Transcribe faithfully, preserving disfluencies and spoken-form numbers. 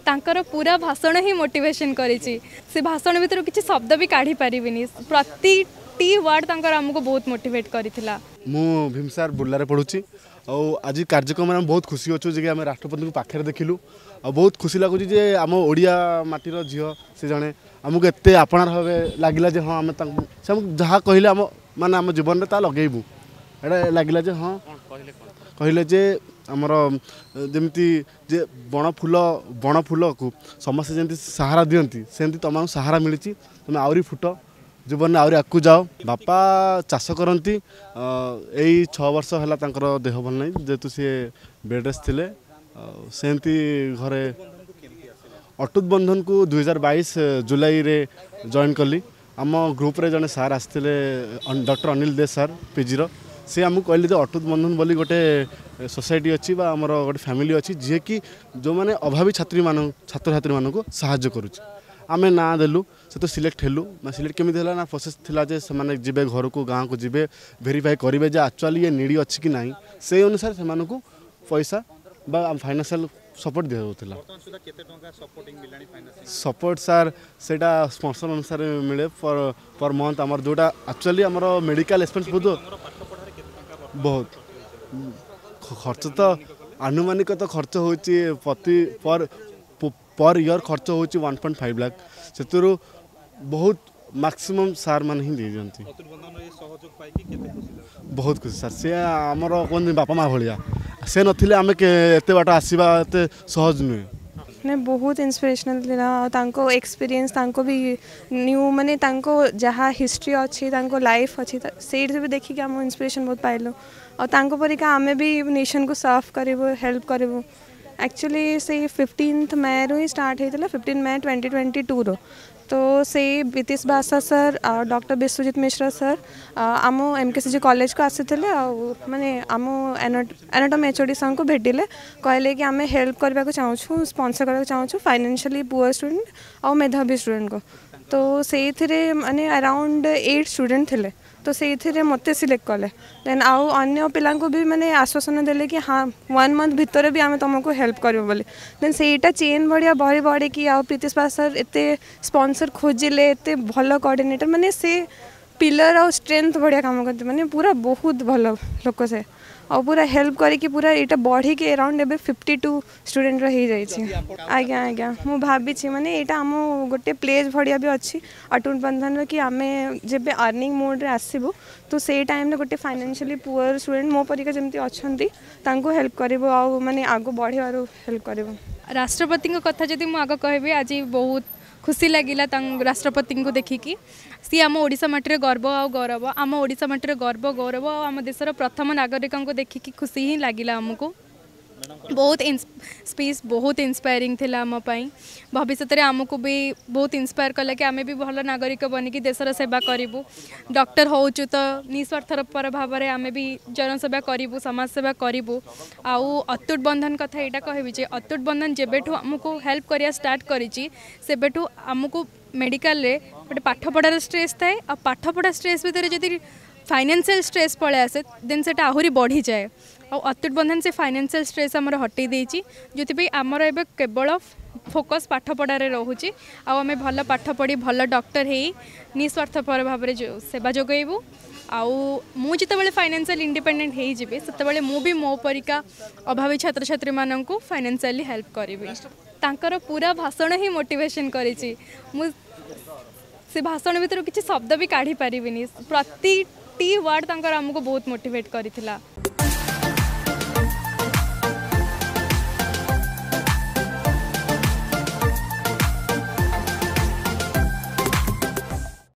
ତାଙ୍କର ପୁରା ଭାଷଣ ହିଁ ମୋଟିଭେସନ୍ କରିଛି। ସେ ଭାଷଣ ଭିତରୁ କିଛି ଶବ୍ଦ ବି କାଢ଼ି ପାରିବିନି। ପ୍ରତିଟି ୱାର୍ଡ଼ ତାଙ୍କର ଆମକୁ ବହୁତ ମୋଟିଭେଟ୍ କରିଥିଲା। ମୁଁ ଭୀମସାର ବୁର୍ଲାରେ ପଢ଼ୁଛି ଆଉ ଆଜି କାର୍ଯ୍ୟକ୍ରମରେ ଆମେ ବହୁତ ଖୁସି ଅଛୁ ଯେ କି ଆମେ ରାଷ୍ଟ୍ରପତିଙ୍କୁ ପାଖରେ ଦେଖିଲୁ ଆଉ ବହୁତ ଖୁସି ଲାଗୁଛି ଯେ ଆମ ଓଡ଼ିଆ ମାଟିର ଝିଅ ସେ ଜଣେ ଆମକୁ ଏତେ ଆପଣାର ଭାବେ ଲାଗିଲା ଯେ ହଁ, ଆମେ ତାଙ୍କୁ ସେ ଆମକୁ ଯାହା କହିଲେ ଆମ ମାନେ ଆମ ଜୀବନରେ ତା ଲଗେଇବୁ। ଏଇଟା ଲାଗିଲା ଯେ ହଁ, କହିଲେ ଯେ ଆମର ଯେମିତି ଯେ ବଣ ଫୁଲ, ବଣ ଫୁଲକୁ ସମସ୍ତେ ଯେମିତି ସାହାରା ଦିଅନ୍ତି, ସେମିତି ତୁମକୁ ସାହାରା ମିଳିଛି, ତୁମେ ଆହୁରି ଫୁଟ, ଜୀବନରେ ଆହୁରି ଆଗକୁ ଯାଅ। ବାପା ଚାଷ କରନ୍ତି। ଏଇ ଛଅ ବର୍ଷ ହେଲା ତାଙ୍କର ଦେହ ଭଲ ନାହିଁ, ଯେହେତୁ ସିଏ ବେଡ଼୍ ରେଷ୍ଟ ଥିଲେ। ଆଉ ସେମିତି ଘରେ ଅଟୁଟ ବନ୍ଧନକୁ ଦୁଇହଜାର ବାଇଶ ଜୁଲାଇରେ ଜଏନ୍ କଲି। ଆମ ଗ୍ରୁପ୍ରେ ଜଣେ ସାର୍ ଆସିଥିଲେ, ଡକ୍ଟର ଅନିଲ ଦେ ସାର୍, ପିଜିର। ସେ ଆମକୁ କହିଲେ ଯେ ଅଟୁଟ ବନ୍ଧନ ବୋଲି ଗୋଟେ ସୋସାଇଟି ଅଛି ବା ଆମର ଗୋଟେ ଫ୍ୟାମିଲି ଅଛି, ଯିଏକି ଯେଉଁମାନେ ଅଭାବୀ ଛାତ୍ରୀମାନଙ୍କୁ ଛାତ୍ରଛାତ୍ରୀମାନଙ୍କୁ ସାହାଯ୍ୟ କରୁଛି। ଆମେ ନାଁ ଦେଲୁ, ସେ ତ ସିଲେକ୍ଟ ହେଲୁ। ନା, ସିଲେକ୍ଟ କେମିତି ହେଲା ନା, ପ୍ରୋସେସ୍ ଥିଲା ଯେ ସେମାନେ ଯିବେ ଘରକୁ, ଗାଁକୁ ଯିବେ, ଭେରିଫାଏ କରିବେ ଯେ ଆକ୍ଚୁଆଲି ଇଏ ନିଡ଼ି ଅଛି କି ନାହିଁ। ସେଇ ଅନୁସାରେ ସେମାନଙ୍କୁ ପଇସା ବା ଫାଇନାନ୍ସିଆଲ ସପୋର୍ଟ ଦିଆଯାଉଥିଲା। ସପୋର୍ଟ ସାର୍, ସେଇଟା ସ୍ପନ୍ସର ଅନୁସାରେ ମିଳେ ପର୍ ପର୍ ମନ୍ଥ। ଆମର ଯେଉଁଟା ଆକ୍ଚୁଆଲି ଆମର ମେଡ଼ିକାଲ ଏକ୍ସପେନ୍ସ ବହୁତ ବହୁତ ଖର୍ଚ୍ଚ ତ ଆନୁମାନିକ ତ ଖର୍ଚ୍ଚ ହେଉଛି ପ୍ରତି ପର୍ ପର୍ ଇୟର୍ ଖର୍ଚ୍ଚ ହେଉଛି ୱାନ୍ ପଏଣ୍ଟ ଫାଇଭ୍ ଲାଖ। ସେଥିରୁ ବହୁତ ମାକ୍ସିମମ୍ ସାର୍ ମାନେ ହିଁ ଦେଇଦିଅନ୍ତି। ବହୁତ ଖୁସି ସାର୍। ସେ ଆମର କୁହନ୍ତି ବାପା ମା ଭଳିଆ। ସେ ନଥିଲେ ଆମେ ଏତେ ବାଟ ଆସିବା ଏତେ ସହଜ ନୁହେଁ। ମାନେ ବହୁତ ଇନ୍ସପିରେସନାଲ୍ ଥିଲା ଆଉ ତାଙ୍କ ଏକ୍ସପିରିଏନ୍ସ, ତାଙ୍କ ବି ନ୍ୟୁ ମାନେ ତାଙ୍କ ଯାହା ହିଷ୍ଟ୍ରି ଅଛି, ତାଙ୍କ ଲାଇଫ୍ ଅଛି, ସେଇଠି ବି ଦେଖିକି ଆମ ଇନ୍ସପିରେସନ୍ ବହୁତ ପାଇଲୁ ଆଉ ତାଙ୍କ ପରିକା ଆମେ ବି ନେସନ୍କୁ ସର୍ଭ କରିବୁ, ହେଲ୍ପ କରିବୁ। ଆକ୍ଚୁଆଲି ସେଇ ଫିଫ୍ଟିନ୍ଥ ମେରୁ ହିଁ ଷ୍ଟାର୍ଟ ହେଇଥିଲା, ଫିଫ୍ଟିନ୍ ମେ ଟ୍ୱେଣ୍ଟି ଟ୍ୱେଣ୍ଟି ଟୁରୁ। ତ ସେଇ ବିତିଶ ବାସା ସାର୍ ଆଉ ଡକ୍ଟର ବିଶ୍ୱଜିତ ମିଶ୍ର ସାର୍ ଆମ ଏମ୍ କେ ସି ଜି କଲେଜକୁ ଆସିଥିଲେ ଆଉ ମାନେ ଆମ ଆନାଟମି ଏଚ୍ ଓ ଡି ସାର୍ଙ୍କୁ ଭେଟିଲେ। କହିଲେ କି ଆମେ ହେଲ୍ପ କରିବାକୁ ଚାହୁଁଛୁ, ସ୍ପନ୍ସର କରିବାକୁ ଚାହୁଁଛୁ ଫାଇନାନ୍ସିଆଲି ପୁଅର୍ ଷ୍ଟୁଡେଣ୍ଟ ଆଉ ମେଧାବୀ ଷ୍ଟୁଡେଣ୍ଟକୁ। ତ ସେଇଥିରେ ମାନେ ଆରାଉଣ୍ଡ ଏଇଟ୍ ଷ୍ଟୁଡେଣ୍ଟ ଥିଲେ, ତ ସେଇଥିରେ ମୋତେ ସିଲେକ୍ଟ କଲେ। ଦେନ୍ ଆଉ ଅନ୍ୟ ପିଲାଙ୍କୁ ବି ମାନେ ଆଶ୍ୱାସନା ଦେଲେ କି ହଁ, ୱାନ୍ ମନ୍ଥ ଭିତରେ ବି ଆମେ ତୁମକୁ ହେଲ୍ପ କରିବୁ ବୋଲି। ଦେନ୍ ସେଇଟା ଚେନ୍ ଭଳିଆ ବଢ଼ି ବଢ଼ିକି ଆଉ ପ୍ରୀତିଶ ବାସ ସାର୍ ଏତେ ସ୍ପନ୍ସର ଖୋଜିଲେ, ଏତେ ଭଲ କୋଅର୍ଡ଼ିନେଟର, ମାନେ ସେ ପିଲର ଆଉ ଷ୍ଟ୍ରେନ୍ଥ ଭଳିଆ କାମ କରନ୍ତି। ମାନେ ପୁରା ବହୁତ ଭଲ ଲୋକ ସେ ଆଉ ପୁରା ହେଲ୍ପ କରିକି ପୁରା ଏଇଟା ବଢ଼ିକି ଆରାଉଣ୍ଡ ଏବେ ଫିଫ୍ଟି ଟୁ ଷ୍ଟୁଡେଣ୍ଟର ହେଇଯାଇଛି। ଆଜ୍ଞା ଆଜ୍ଞା, ମୁଁ ଭାବିଛି ମାନେ ଏଇଟା ଆମ ଗୋଟେ ପ୍ଲେଜ୍ ଭଳିଆ ବି ଅଛି ଅଟୁଟ ବନ୍ଧନର କି ଆମେ ଯେବେ ଅର୍ଣ୍ଣିଂ ମୋଡ଼୍ରେ ଆସିବୁ, ତ ସେଇ ଟାଇମ୍ରେ ଗୋଟେ ଫାଇନାନ୍ସିଆଲି ପୁଅର୍ ଷ୍ଟୁଡେଣ୍ଟ ମୋ ପରିକା ଯେମିତି ଅଛନ୍ତି, ତାଙ୍କୁ ହେଲ୍ପ କରିବୁ ଆଉ ମାନେ ଆଗକୁ ବଢ଼ିବାରୁ ହେଲ୍ପ କରିବୁ। ରାଷ୍ଟ୍ରପତିଙ୍କ କଥା ଯଦି ମୁଁ ଆଗ କହିବି, ଆଜି ବହୁତ ଖୁସି ଲାଗିଲା ତାଙ୍କ ରାଷ୍ଟ୍ରପତିଙ୍କୁ ଦେଖିକି। ସିଏ ଆମ ଓଡ଼ିଶା ମାଟିର ଗର୍ବ ଆଉ ଗୌରବ। ଆମ ଓଡ଼ିଶା ମାଟିର ଗର୍ବ, ଗୌରବ ଆଉ ଆମ ଦେଶର ପ୍ରଥମ ନାଗରିକଙ୍କୁ ଦେଖିକି ଖୁସି ହିଁ ଲାଗିଲା ଆମକୁ। ବହୁତ ସ୍ପିଚ୍ ବହୁତ ଇନ୍ସପାୟାରିଂ ଥିଲା ଆମ ପାଇଁ। ଭବିଷ୍ୟତରେ ଆମକୁ ବି ବହୁତ ଇନ୍ସପାୟାର କଲା କି ଆମେ ବି ଭଲ ନାଗରିକ ବନିକି ଦେଶର ସେବା କରିବୁ। ଡକ୍ଟର ହେଉଛୁ ତ ନିସ୍ୱାର୍ଥପର ଭାବରେ ଆମେ ବି ଜନସେବା କରିବୁ, ସମାଜ ସେବା କରିବୁ। ଆଉ ଅତୁଟ ବନ୍ଧନ କଥା ଏଇଟା କହିବି ଯେ ଅତୁଟ ବନ୍ଧନ ଯେବେଠୁ ଆମକୁ ହେଲ୍ପ କରିବା ଷ୍ଟାର୍ଟ କରିଛି, ସେବେଠୁ ଆମକୁ ମେଡ଼ିକାଲରେ ଗୋଟେ ପାଠପଢ଼ାର ଷ୍ଟ୍ରେସ୍ ଥାଏ ଆଉ ପାଠପଢ଼ା ଷ୍ଟ୍ରେସ୍ ଭିତରେ ଯଦି ଫାଇନାନ୍ସିଆଲ୍ ଷ୍ଟ୍ରେସ୍ ପଳେଇ ଆସେ, ଦେନ୍ ସେଇଟା ଆହୁରି ବଢ଼ିଯାଏ। ଆଉ ଅତୁଟ ବନ୍ଧନ ସେ ଫାଇନାନ୍ସିଆଲ୍ ଷ୍ଟ୍ରେସ୍ ଆମର ହଟେଇ ଦେଇଛି, ଯେଉଁଥିପାଇଁ ଆମର ଏବେ କେବଳ ଫୋକସ୍ ପାଠପଢ଼ାରେ ରହୁଛି ଆଉ ଆମେ ଭଲ ପାଠ ପଢ଼ି ଭଲ ଡକ୍ଟର ହେଇ ନିସ୍ୱାର୍ଥପର ଭାବରେ ସେବା ଯୋଗାଇବୁ। ଆଉ ମୁଁ ଯେତେବେଳେ ଫାଇନାନ୍ସିଆଲ୍ ଇଣ୍ଡିପେଣ୍ଡେଣ୍ଟ ହେଇଯିବି, ସେତେବେଳେ ମୁଁ ବି ମୋ ପରିକା ଅଭାବୀ ଛାତ୍ରଛାତ୍ରୀମାନଙ୍କୁ ଫାଇନାନ୍ସିଆଲି ହେଲ୍ପ କରିବି। ତାଙ୍କର ପୁରା ଭାଷଣ ହିଁ ମୋଟିଭେସନ୍ କରିଛି। ମୁଁ ସେ ଭାଷଣ ଭିତରୁ କିଛି ଶବ୍ଦ ବି କାଢ଼ି ପାରିବିନି। ପ୍ରତିଟି ୱାର୍ଡ଼ ତାଙ୍କର ଆମକୁ ବହୁତ ମୋଟିଭେଟ୍ କରିଥିଲା।